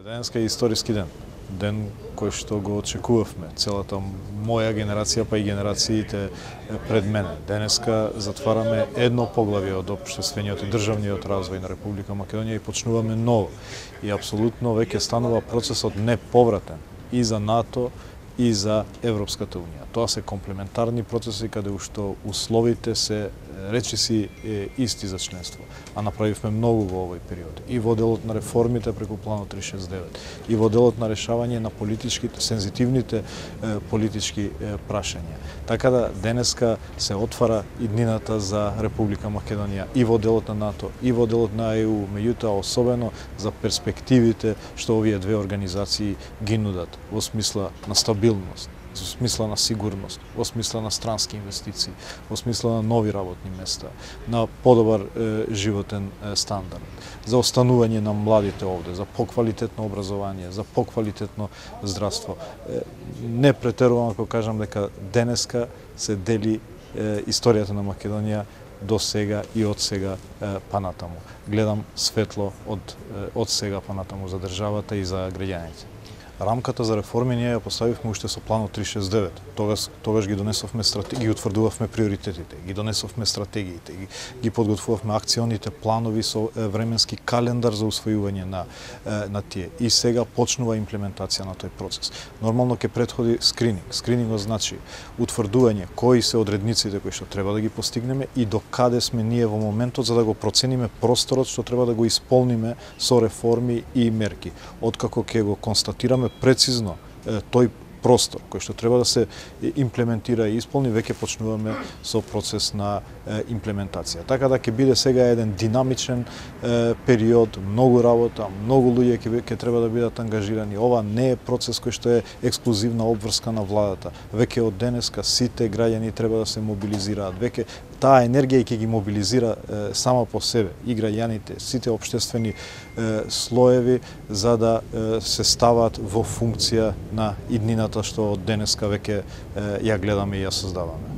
Денеска е историски ден. Ден кој што го очекувавме, целата моја генерација, па и генерациите пред мене. Денеска затвараме едно поглавје од општествениот и државниот развој на Република Македонија и почнуваме ново. И апсолутно веќе станува процесот неповратен и за НАТО и за Европската Унија. Тоа се комплементарни процеси каде ушто условите се речиси исти за членство, а направивме многу во овој период. И во делот на реформите преку планот 369, и во делот на решавање на политичките, сензитивните политички прашања. Така да денеска се отвара иднината за Република Македонија и во делот на НАТО, и во делот на ЕУ, меѓутоа особено за перспективите што овие две организации ги нудат во смисла на стабилност, во смисла на сигурност, во смисла на странски инвестиции, во смисла на нови работни места, на подобар животен стандард, за останување на младите овде, за поквалитетно образование, за поквалитетно здравство. Не претерувам ако кажам дека денеска се дели историјата на Македонија до сега и од сега па натаму. Гледам светло од сега па натаму за државата и за граѓаните. Рамката за реформи ние ја поставивме уште со планот 369. Тогаш ги донесовме стратегии, ги утврдувавме приоритетите, ги донесовме стратегиите, ги подготвувавме акционите планови со временски календар за усвојување на тие. И сега почнува имплементација на тој процес. Нормално ќе претходи скрининг. Скринингот значи утврдување кои се одредниците кои што треба да ги постигнеме и до каде сме ние во моментот за да го процениме просторот што треба да го исполниме со реформи и мерки. Откако ќе го констатираме прецизно тој простор кој што треба да се имплементира и исполни, веќе почнуваме со процес на имплементација. Така да ќе биде сега еден динамичен период, многу работа, многу луѓе ќе треба да бидат ангажирани. Ова не е процес кој што е ексклузивна обврска на владата. Веќе од денеска сите граѓани треба да се мобилизираат. Веќе таа енергија ќе ги мобилизира сама по себе и граѓаните, сите општествени слоеви за да се стават во функција на иднината што од денеска веќе ја гледаме и ја создаваме.